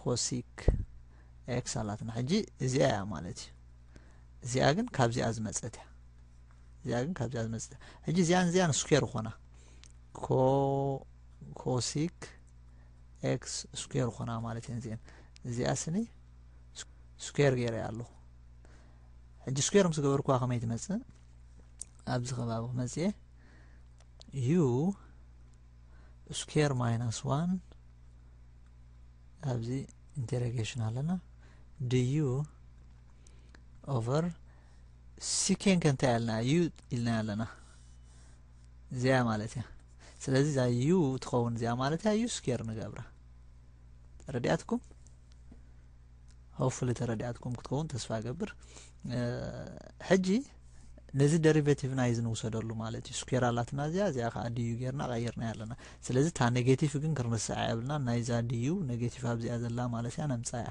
cosic x ኣላትና። ሕጂ እዚኣ እያ ማለት እዩ። እዚኣ ግን ካብዚኣ ዝመጸት እያ። እዚኣ ግን ካብዚኣ ዝመጸት እያ። ሕጂ እዚኣን እዚኣን ስኩዌር ይኾና። ኮ-፣ cosic x ስኩዌር ይኾና ማለት እየን እዚአን። እዚኣ ስኒ ስኩዌር ገይረ ኣለኹ። ሕጂ ስኩዌር ምስ ገበርኩዋ ከመይ ትመጽእ? ኣብዚ ከባቢ ክመጽእ እየ። U square minus one ኣብዚ ኢንተሮጌሽን ኣለና። Du over secant ከ እንታይ ኣለና? U ኢልና ኣለና። እዚኣ ማለት እያ። ስለዚ እዛ U ትኸውን እዚኣ ማለት እያ። U ስኩዌር ንገብራ። ተረዲኣትኩም? ሆፕፉሊ ተረዲኣትኩም ክትከውን ተስፋ እገብር። እ፣ ሕጂ ነዚ ደሪቬቲቭ ናይዚ ንውሰደሉ ማለት እዩ። ስኩዌር ኣላትና እዚኣ፣ እዚኣ ከዓ du ጌርና ቀይርና ኣለና። ስለዚ እታ ኔጌቲቭ ግን ክንርስዓ የብልና። ናይዛ du ኔጌቲቭ ኣብዚኣ ዘላ ማለት እያ ነምፃ እያ።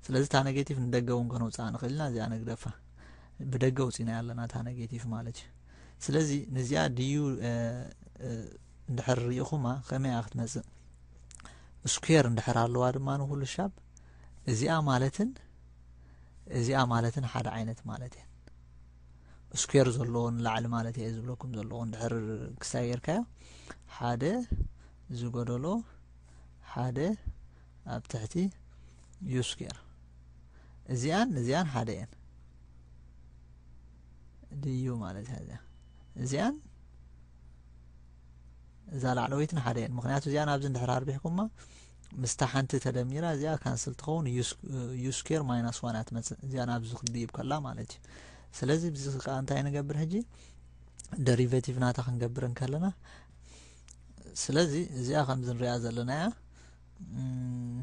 ስለዚ እታ ኔጌቲቭ ንደገ እውን ከነውፅኣ ንኽእል ኢና። እዚኣ ንግደፋ። ብደገ ውፂና ኣለና እታ ኔጌቲቭ ማለት እዩ። ስለዚ ነዚኣ du፣ እ፣ እ፣ እንድሕር ርኢኹማ ከመይ እያ ክትመፅእ? ስኩዌር እንድሕር ኣለዋ ድማ ንኩሉ ሻብ እዚኣ ማለትን እዚኣ ማለትን ሓደ ዓይነት ማለት እየን። ስኩዌር ዘለዎ ንላዕሊ ማለት እየ ዝብለኩም ዘለኹ። እንድሕር ክስታይ ጌርካዮ ሓደ ዝጎደሎ ሓደ ኣብ ትሕቲ U ስኩዌር። እዚኣን እዚኣን ሓደ እየን። Du ማለት እያ እዚኣ። እዚኣን እዛ ላዕለወይትን ሓደ እየን። ምኽንያቱ እዚኣን ኣብዚ እንድሕር ኣርቢሕኩማ ምስታ ሓንቲ ተደሚራ እዚኣ ካንስል ትኸውን። U ስኩዌር ማይናስ ዋን እያ ትመጽእ። እዚኣን ኣብዚ ክድይብ ከላ ማለት እዩ። ስለዚ ብዚ ከዓ እንታይ ንገብር ሕጂ? ደሪቬቲቭ ናታ ክንገብር እንከለና፣ ስለዚ እዚኣ ከምዚ ንሪኣ ዘለና እያ። እም፣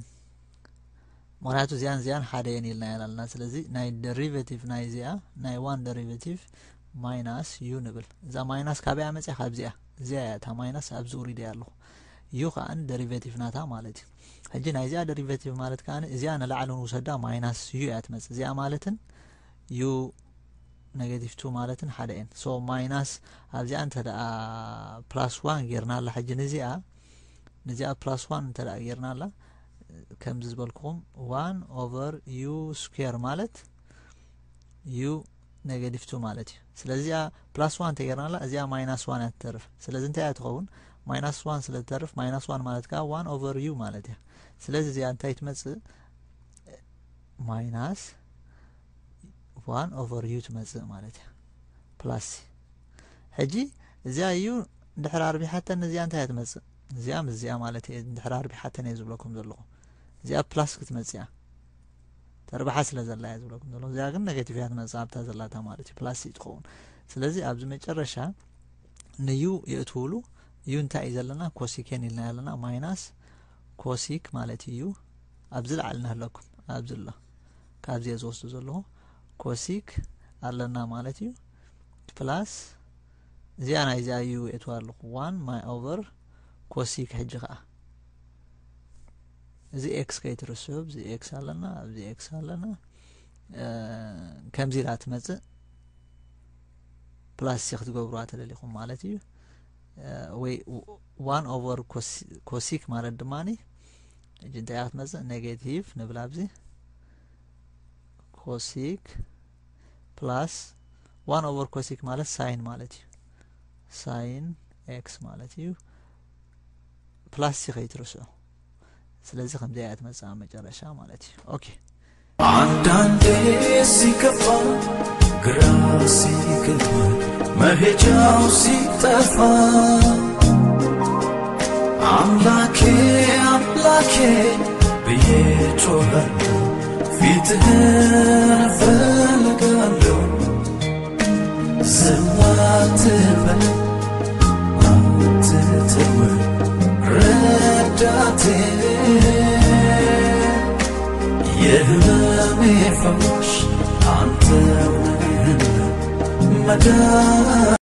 ምኽንያቱ እዚኣን እዚኣን ሓደ እየን ኢልና ኢና ኣለና። ስለዚ ናይ ደሪቬቲቭ ናይ እዚኣ ናይ ዋን ደሪቬቲቭ ማይናስ U ንብል። እዛ ማይናስ ካበይ እያ መፅያ? ካብዚኣ። እዚኣ እያ እታ ማይናስ ኣብዚ ውሪደ እያ ኣለኹ። U ከዓን ደሪቬቲቭ ናታ ማለት እዩ። ሕጂ ናይ እዚኣ ደሪቬቲቭ ማለት ከዓን እዚኣ ንላዕሊ ንውሰዳ ማይናስ U እያ ትመፅእ። እዚኣ ማለትን U ኔጌቲቭ ቱ ማለትን ሓደ እየን። ሶ ማይናስ ኣብዚኣ እንተ ደኣ ፕላስ ዋን ጌርና ኣላ ሕጂ ንዚኣ፣ ንዚኣ ፕላስ ዋን እንተ ደኣ ጌርና ኣላ፣ ከምዚ ዝበልኩኹም ዋን ኦቨር U ስኩዌር ማለት U ኔጌቲቭ ቱ ማለት እዩ። ስለዚ እዚኣ ፕላስ ዋን እንተ ጌርና ኣላ፣ እዚኣ ማይናስ ዋን እያ ትተርፍ። ስለዚ እንታይ እያ ትኸውን? ማይናስ ዋን ስለ ትተርፍ፣ ማይናስ ዋን ማለት ከኣ ዋን ኦቨር U ማለት እያ። ስለዚ እዚኣ እንታይ ትመጽእ? ማይናስ ዋን ኦቨር U ትመጽእ ማለት እያ። ፕላስ ሕጂ እዚኣ U እንድሕር ኣርቢሓተን እዚኣ እንታይ እያ ትመጽእ? እዚኣ ምስ እዚኣ ማለት እየ እንድሕር ኣርቢሓተን እየ ዝብለኩም ዘለኹ። እዚኣ ፕላስ ክትመጽእ እያ። ተርባሓ ስለ ዘላ እየ ዝብለኩም ዘለኹ። እዚኣ ግን ኔጌቲቭ እያ ትመጽእ ኣብታ ዘላታ ማለት እዩ። ፕላስ እዩ ትኸውን። ስለዚ ኣብዚ መጨረሻ ን U የእትውሉ። U እንታይ እዩ ዘለና? ኮሲኬን ኢልና ኣለና። ማይናስ ኮሲክ ማለት እዩ። ኣብዚ ላዕሊ ንህለኩም ኣብዚ ኣሎ። ካብዚ እየ ዝወስዶ ዘለኹ። ኮሲክ ኣለና ማለት እዩ። ፕላስ እዚኣ ናይ እዚኣ U የእትዋ ኣለኹ። ዋን ማይ ኦቨር ኮሲክ ሕጂ ከዓ እዚ ኤክስ ከይትርስዑ፣ ኣብዚ ኤክስ ኣለና፣ ኣብዚ ኤክስ ኣለና። እ፣ ከምዚ ኢላ ትመጽእ ፕላስ ሲ ክትገብሩዋ ተደሊኹም ማለት እዩ። እ፣ ወይ ዋን ኦቨር ኮሲ-፣ ኮሲክ ማለት ድማኒ፣ ሕጂ እንታይ እያ ክትመጽእ? ኔጌቲቭ ንብል ኣብዚ ኮሲክ ፕላስ ዋን ኦቨር ኮሲክ ማለት ሳይን ማለት እዩ። ሳይን ኤክስ ማለት እዩ። ፕላስ ሲ ከይትርስዑ። ስለዚ ከምዚኣ እያ ትመጽእ ኣብ መጨረሻ ማለት እዩ። ኦኬ። አንዳንዴ ሲከፋ ግራ ሲገባ መሄጃው ሲጠፋ አምላኬ አምላኬ ብዬ ጮኻለሁ፣ ፊትህን እፈልጋለሁ። ዝም አትበል አትተው ረዳቴ፣ የህመሜ ፈዋሽ አንተው ነህና መድኃኒቴ።